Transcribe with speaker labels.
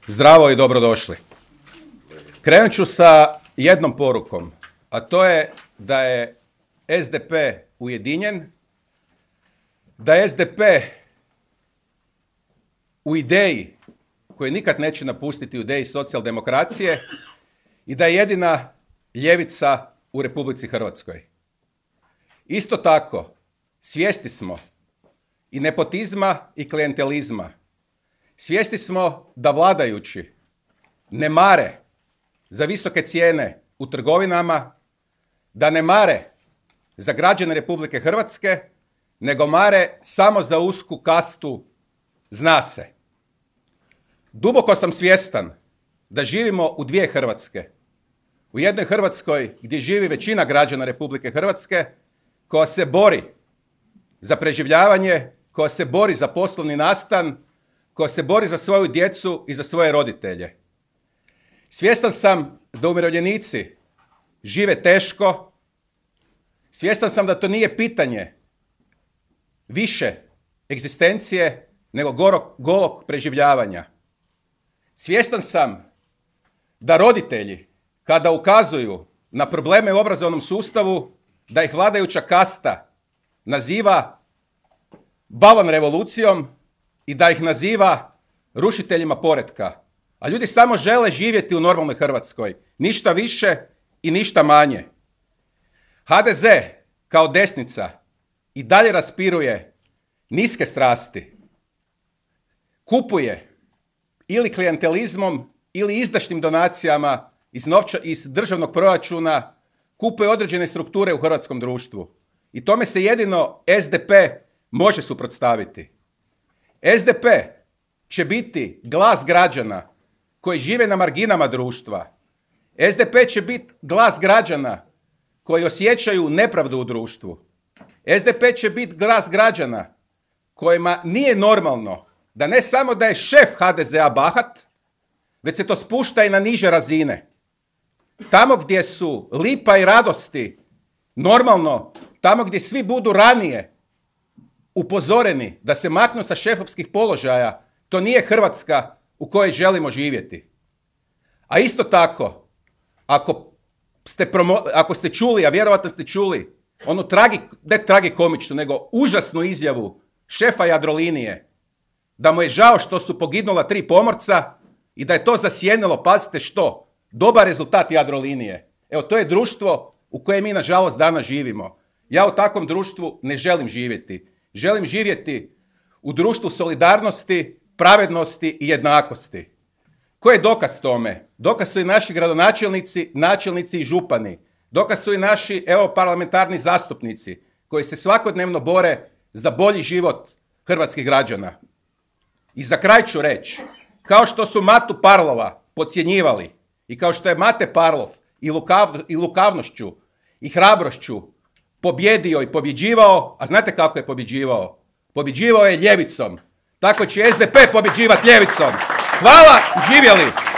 Speaker 1: Zdravo i dobrodošli. Krenut ću sa jednom porukom, a to je da je SDP ujedinjen, da je SDP u ideji koju nikad neće napustiti, u ideji socijaldemokracije i da je jedina ljevica u Republici Hrvatskoj. Isto tako, svjesni smo i nepotizma i klijentelizma. Svjesni smo da vladajući ne mare za visoke cijene u trgovinama, da ne mare za građane Republike Hrvatske, nego mare samo za usku kastu zna se. Duboko sam svjestan da živimo u dvije Hrvatske. U jednoj Hrvatskoj gdje živi većina građana Republike Hrvatske koja se bori za preživljavanje, koja se bori za poslovni nastan, koja se bori za svoju djecu i za svoje roditelje. Svjestan sam da umirovljenici žive teško, svjestan sam da to nije pitanje više egzistencije nego golog preživljavanja. Svjestan sam da roditelji kada ukazuju na probleme u obrazovnom sustavu, da ih vladajuća kasta naziva balon revolucijom i da ih naziva rušiteljima poretka. A ljudi samo žele živjeti u normalnoj Hrvatskoj. Ništa više i ništa manje. HDZ kao desnica i dalje raspiruje niske strasti. Kupuje ili klijentelizmom ili izdašnim donacijama iz državnog proračuna, kupuje određene strukture u hrvatskom društvu. I tome se jedino SDP može suprotstaviti. SDP će biti glas građana koji žive na marginama društva. SDP će biti glas građana koji osjećaju nepravdu u društvu. SDP će biti glas građana kojima nije normalno da ne samo da je šef HDZ-a bahat, već se to spušta i na niže razine. Tamo gdje su lipa i radosti normalno, tamo gdje svi budu ranije upozoreni da se maknu sa šefovskih položaja, to nije Hrvatska u kojoj želimo živjeti. A isto tako, ako ste čuli, a vjerojatno ste čuli, onu ne tragikomičnu, nego užasnu izjavu šefa Jadrolinije, da mu je žao što su poginula 3 pomorca i da je to zasjenilo, pazite što, dobar rezultat Jadrolinije. Evo, to je društvo u kojem mi, nažalost, danas živimo. Ja u takvom društvu ne želim živjeti. Želim živjeti u društvu solidarnosti, pravednosti i jednakosti. Koji je dokaz tome? Dokaz su i naši gradonačelnici, načelnici i župani. Dokaz su i naši parlamentarni zastupnici koji se svakodnevno bore za bolji život hrvatskih građana. I za kraj ću reći, kao što su Matu Parlova podcjenjivali i kao što je Mate Parlov i lukavnošću i hrabrošću pobjedio i pobjeđivao, a znate kako je pobjeđivao? Pobjeđivao je ljevicom. Tako će SDP pobjeđivati ljevicom. Hvala, živjeli!